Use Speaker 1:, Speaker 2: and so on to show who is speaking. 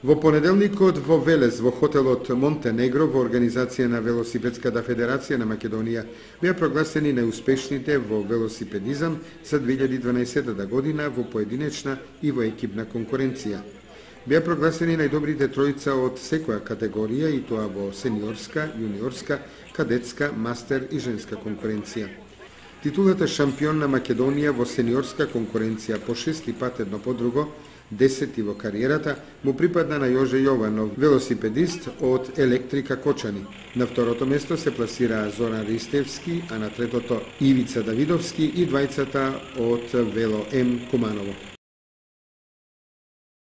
Speaker 1: Во понеделникот во Велес, во хотелот Монтенегро, во организација на Велосипедската федерација на Македонија, беа прогласени најуспешните во велосипедизам за 2012 година во поединечна и во екипна конкуренција. Беа прогласени најдобрите тројца од секоја категорија, и тоа во сениорска, јуниорска, кадетска, мастер и женска конкуренција. Титулата шампион на Македонија во сениорска конкуренција по 6 пат едно по друго, 10 во кариерата, му припадна на Јоже Јованов, велосипедист од Електрика Кочани. На второто место се пласира Зоран Ристевски, а на третото Ивица Давидовски и двајцата од Вело М Куманово.